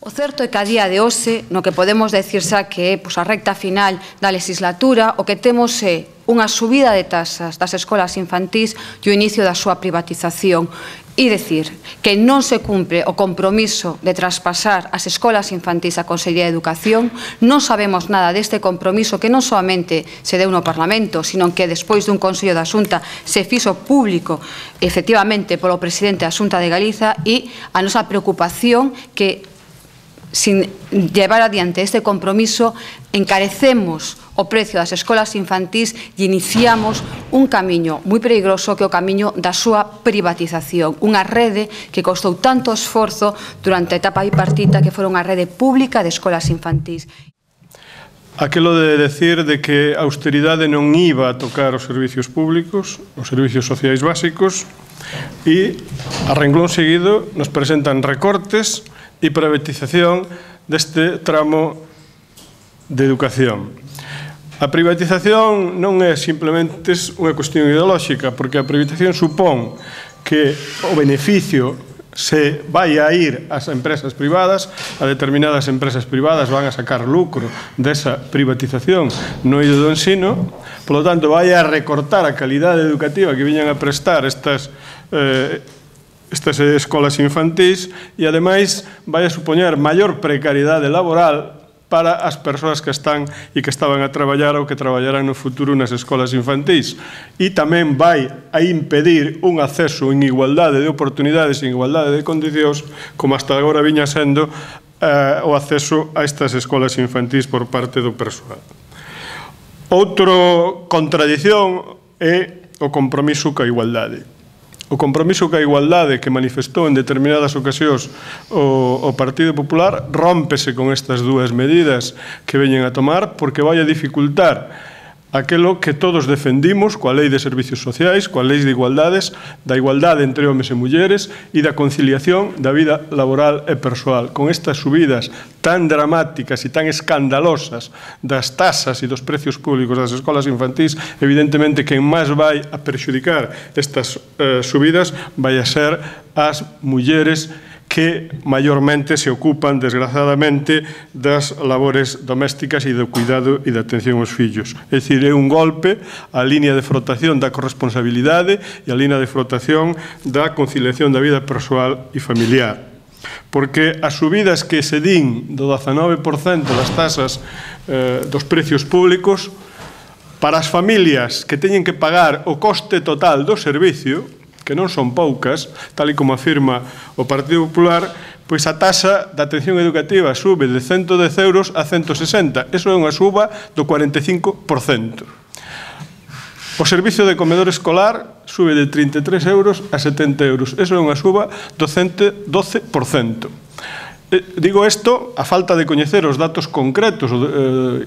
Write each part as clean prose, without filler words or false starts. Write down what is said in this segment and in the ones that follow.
O certo é que a día de hoxe, no que podemos decir xa que é a recta final da legislatura, o que temos é unha subida de tasas das escolas infantís e o inicio da súa privatización. E dicir que non se cumpre o compromiso de traspasar as escolas infantís á Consellería de Educación, non sabemos nada deste compromiso que non solamente se deu no Parlamento, sino que despois dun Consello da Xunta se fixo público efectivamente polo presidente da Xunta de Galiza, e a nosa preocupación que sin llevar adiante este compromiso encarecemos o precio das escolas infantís e iniciamos un camiño moi perigoso que é o camiño da súa privatización. Unha rede que costou tanto esforzo durante a etapa bipartita, que fora unha rede pública de escolas infantís. Aquelo de decir de que a austeridade non iba a tocar os servicios públicos, os servicios sociais básicos, e a renglón seguido nos presentan recortes e privatización deste tramo de educación. A privatización non é simplemente unha cuestión ideolóxica, porque a privatización supón que o beneficio se vai a ir ás empresas privadas, a determinadas empresas privadas van a sacar lucro desa privatización no eido do ensino, polo tanto vai a recortar a calidade educativa que viñan a prestar estas escolas infantís, e ademais vai a supoñer maior precariedade laboral para as persoas que están e que estaban a traballar ou que traballarán no futuro nas escolas infantís, e tamén vai a impedir un acceso en igualdade de oportunidades e en igualdade de condicións, como hasta agora viña sendo o acceso a estas escolas infantís por parte do persoal. Outra contradición é o compromiso coa igualdade. O compromiso coa igualdade que manifestou en determinadas ocasións o Partido Popular rómpese con estas dúas medidas que veñen a tomar, porque vai a dificultar aquelo que todos defendimos coa Lei de Servicios Sociais, coa Lei de Igualdades, da igualdade entre homes e mulleres e da conciliación da vida laboral e persoal. Con estas subidas tan dramáticas e tan escandalosas das tasas e dos precios públicos das escolas infantís, evidentemente quen máis vai a perxudicar estas subidas vai a ser as mulleres que maiormente se ocupan, desgraciadamente, das labores domésticas e do cuidado e da atención aos fillos. É dicir, é un golpe á línea de flotación da corresponsabilidade e á línea de flotación da conciliación da vida persoal e familiar. Porque as subidas que se din do 19% das tasas dos precios públicos, para as familias que teñen que pagar o coste total do servicio, que non son poucas, tal e como afirma o Partido Popular, pois a taxa de atención educativa sube de 110 euros a 160. Iso é unha suba do 45%. O servicio de comedor escolar sube de 33 euros a 70 euros. Iso é unha suba do 112%. Digo isto a falta de coñecer os datos concretos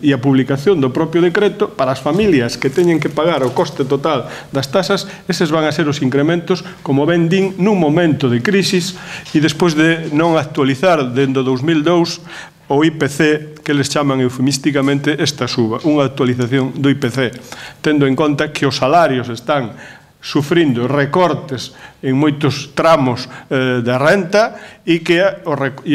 e a publicación do propio decreto. Para as familias que teñen que pagar o coste total das tasas, eses van a ser os incrementos, como ben din, nun momento de crisis e despois de non actualizar dende 2002 o IPC, que les chaman eufemísticamente esta suba, unha actualización do IPC, tendo en conta que os salarios están sufrindo recortes en moitos tramos da renta e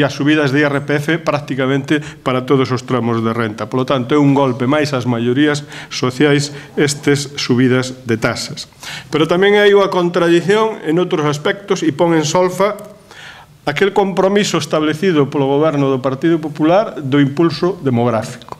as subidas de IRPF prácticamente para todos os tramos de renta. Por lo tanto, é un golpe máis ás maiorías sociais estes subidas de tasas. Pero tamén hai unha contradición en outros aspectos e pon en solfa aquel compromiso establecido polo goberno do Partido Popular do impulso demográfico,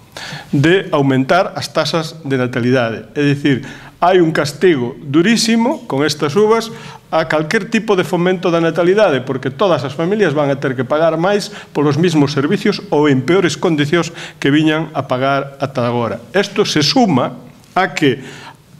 de aumentar as tasas de natalidade. É dicir, hai un castigo durísimo con estas subas a calquer tipo de fomento da natalidade, porque todas as familias van a ter que pagar máis polos mesmos servicios ou en peores condicións que viñan a pagar ata agora. Isto se suma a que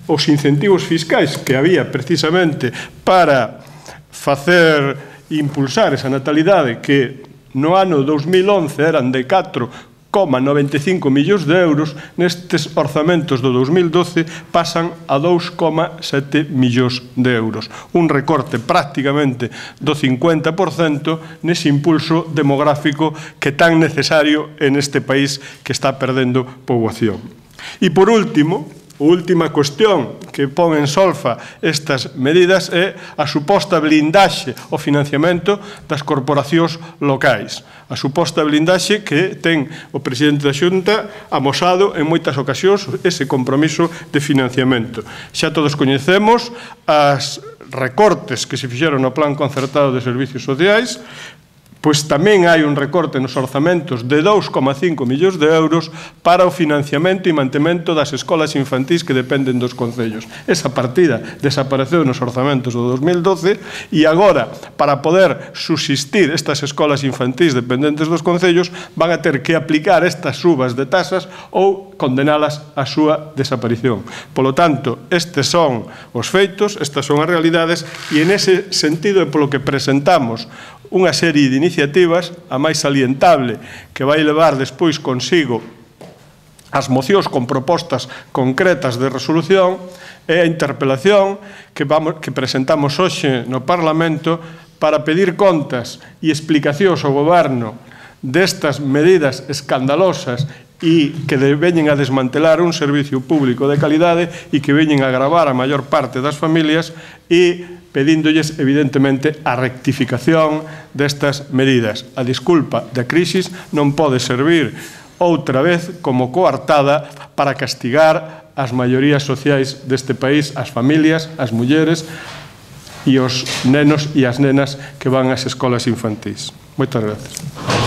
os incentivos fiscais que había precisamente para facer impulsar esa natalidade, que no ano 2011 eran de 4,95 millóns de euros, nestes orzamentos do 2012 pasan a 2,7 millóns de euros. Un recorte prácticamente do 50% nese impulso demográfico que é tan necesario en este país que está perdendo poboación. E por último, última cuestión que pon en solfa estas medidas é a suposta blindaxe ao financiamento das corporacións locais. A suposta blindaxe que ten o presidente da Xunta amosado en moitas ocasións ese compromiso de financiamento. Xa todos coñecemos as recortes que se fixeron no Plan Concertado de Servicios Sociais, pois tamén hai un recorte nos orzamentos de 2,5 millóns de euros para o financiamento e mantemento das escolas infantís que dependen dos concellos. Esa partida desapareceu nos orzamentos do 2012 e agora, para poder subsistir estas escolas infantís dependentes dos concellos, van a ter que aplicar estas subas de tasas ou condenalas á súa desaparición. Polo tanto, estes son os feitos, estas son as realidades, e en ese sentido é polo que presentamos unha serie de iniciativas, a máis salientable, que vai levar despois consigo as mocións con propostas concretas de resolución, é a interpelación que presentamos hoxe no Parlamento para pedir contas e explicacións ao Goberno destas medidas escandalosas e que veñen a desmantelar un servicio público de calidade e que veñen a agravar a maior parte das familias e pedíndolles, evidentemente, a rectificación destas medidas. A disculpa da crisis non pode servir outra vez como coartada para castigar as maiorías sociais deste país, as familias, as mulleres e os nenos e as nenas que van ás escolas infantís. Moitas gracias.